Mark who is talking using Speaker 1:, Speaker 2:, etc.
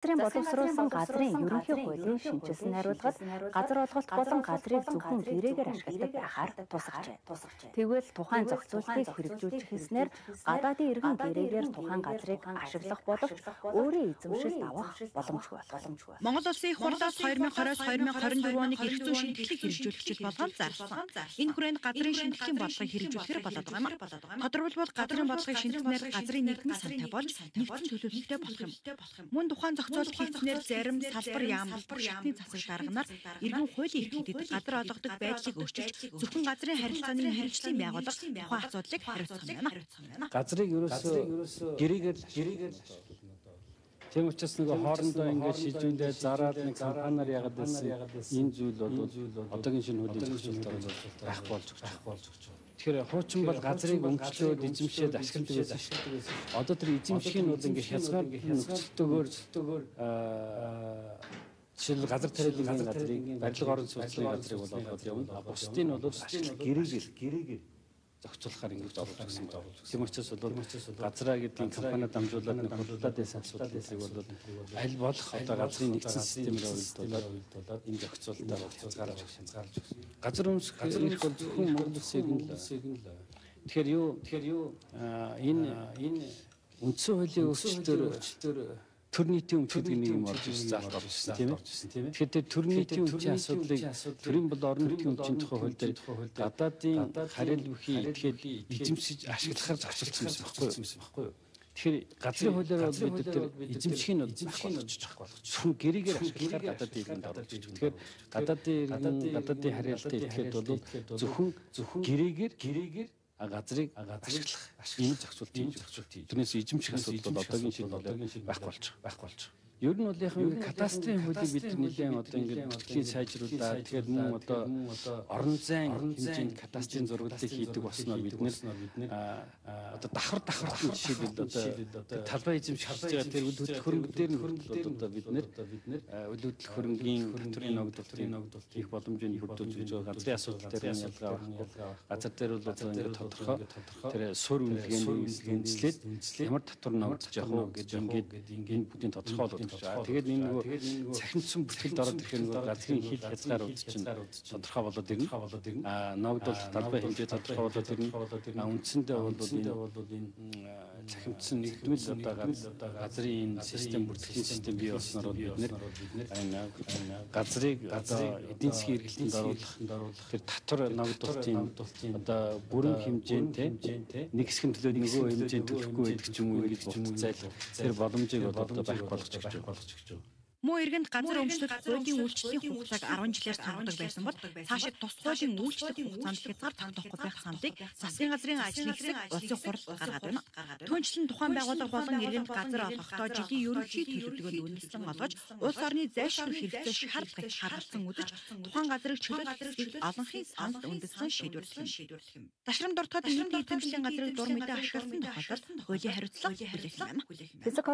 Speaker 1: Газрын боловсруулсан газрын ерөнхий хуулийн шинжилсэн хариулгад газар олголт болон газрыг зөвхөн гэрээгээр ашигладаг байхаар тусгажээ. Тэгвэл тухайн зохицуултыг хэрэгжүүлж эхэлснээр гадаадын иргэн гэрээгээр тухайн газрыг ашиглах боловч өөрийн эзэмшилд авах боломжгүй болов.
Speaker 2: Монгол Улсын их хурлаас 2020-2024 оны эрх зүйн шинжилгээг хэрэгжүүлэгчид болгон зарласан. Энэ хүрээнд газрын шинжилгээний бодлогыг хэрэгжүүлэхээр болоод байгаа юм. Тодорхойлбол газрын бодлогыг шинжилснээр газрын нийгмийн сантай болж нэгдсэн төлөвлөлттэй болох юм. Мөн тухайн зохицуулт хийснээр зарим салбар яамлалбар шатны засаг дарганаар иргэн хуулийн эрхтэд газар олгодог байдлыг өөрчилж зөвхөн газрын харилцааны мэргэжлийн байгууллага тухайн асуудлыг хариуцах юм байна.
Speaker 3: Газрыг ерөөсөө гэрээгээр тийм учраас нэг хоорондоо ингээд шийдвэндээ зараад нэг компаниар яагаад байсан энэ зүйл бол одоогийн шинэ хуулийн зохицуулалтаар байхгүй болж байгаа. Тэгэхээр хуучин бол газрыг өмчлөөд эзэмшээд ашигладаг байсан. Одоо тэр эзэмших нь бол ингээд хязгаар нөхцөлтөөр жишээл газар тариалангийн газрыг барилга орон сууцны газрыг бол олгоод явна. Бусдыг нь бол ашиглах гэрээгээр зохицуулахаар ингэж оруулж гисэн. Тийм учраас бол газраа гэдэг компаниуд дамжуулаад нэг худалдаад байсан асуудлыг бол аль болох одоо газрын нэгдсэн системээр уйлдуулаад энэ зохицуулалтаар хязгаарлаж өгсөн. Газар өмсөх эрх бол зөвхөн Монгол Улсын л. Тэгэхээр юу энэ үндсэн хуулийн өөрчлөлтөөр төр нийтийн өмч гэдэг нэг юм орж ирсэн заалт орж ирсэн тийм ээ. Тэгэхээр төр нийтийн өмчийн асуудлыг төрийн бол орон нутгийн өмчийн тухай хууль дээр гадаадын харил бүхий идэхэд эзэмшиж ашиглахаар зохицуулсан байхгүй юу? Тэгэхээр газрын хуулиар бол бид тэр эзэмших нь байхгүй болгож зөвхөн гэрээгээр ашиглахаар гадаадын иргэнд оруулж байгаа. Тэгэхээр гадаадын харилцаа идэхэд бол зөвхөн гэрээгээр газрыг ашиглах ийм зохицуулт хийж. Тэрнээс эзэмших асуудал бол одоогийн шинэ байхгүй болж байгаа. Ер нь бол яг кадастрын хуулийг бид нэлээд одоо ингээд бүртгэлийн сайжруулаад тэгэхээр мөн одоо орон зайн хэмжээнд кадастрын зурагдлыг хийдэг болсноор бид нэр одоо давхар жишээлбэл одоо талбай эзэмших хийж байгаа тэр үйл хөдлөх хөрөнгө дээр нь одоо бид нэр үйл хөдлөх хөрөнгийн татврын ногдуулалт хийх боломжийг бүрдүүлж байгаа. Газрын асуудал дээр ялгаа авахгүй. Газар дээр бол одоо ингээд тодорхой тэр сур үнэлгээний үнэлслээд ямар татвар ногдож явах уу гэж ингээд энэ бүдийн тодорхойлолт. Тэгээд энэ нөгөө цахимдсан бүртгэлд ороод ирэх нөгөө газрын хил хязгаарууд чинь тодорхой болоод ирнэ. Ногдуулалт талбай хэмжээ тодорхой болоод ирнэ. Үндсэндээ бол энэ цахимдсан нэгдмэл одоо газрын энэ систем бүртгэлийн систем бий болсноор бид нэр газрыг одоо эдийн засгийн эргэлтэнд оруулах тэр татвар ногдуулалтын одоо бүрэн хэмжээнд нэг хэсгийн төлөө нөгөө хэмжээнд төлөхгүй байдаг ч юм уу ингэж буртцайл тэр боломжийг одоо байхгүй болгож гэж байна.
Speaker 2: Мөн иргэнд газар өмчлөх хуулийн үйлчлэлийн хугацааг 10 жилээр саргадаг байсан бол цаашид тус хуулийн үйлчлэх хугацаанд хязгаар тогтоохгүй байх саналыг засгийн газрын ажлын хэсэг улсын хурл гаргаад байна. Түүнчлэн тухайн байгууллага болон иргэнд газар олгохдоо жилийн ерөнхий төлөвлөгөөнд үнэлсэн олгож улс орны зайлшгүй хэрэгцээ шаардлагыг харгалзан үзэж тухайн газрыг чөлөөлөх олонхын санд үндэслэн шийдвэрлэх юм. Дашрам дуртахад иргэнд эзэмшлийн газрыг дур мэдээ ашигласан тохиолдолд хуулийн хариуцлага хүлээх юм.
Speaker 1: Физик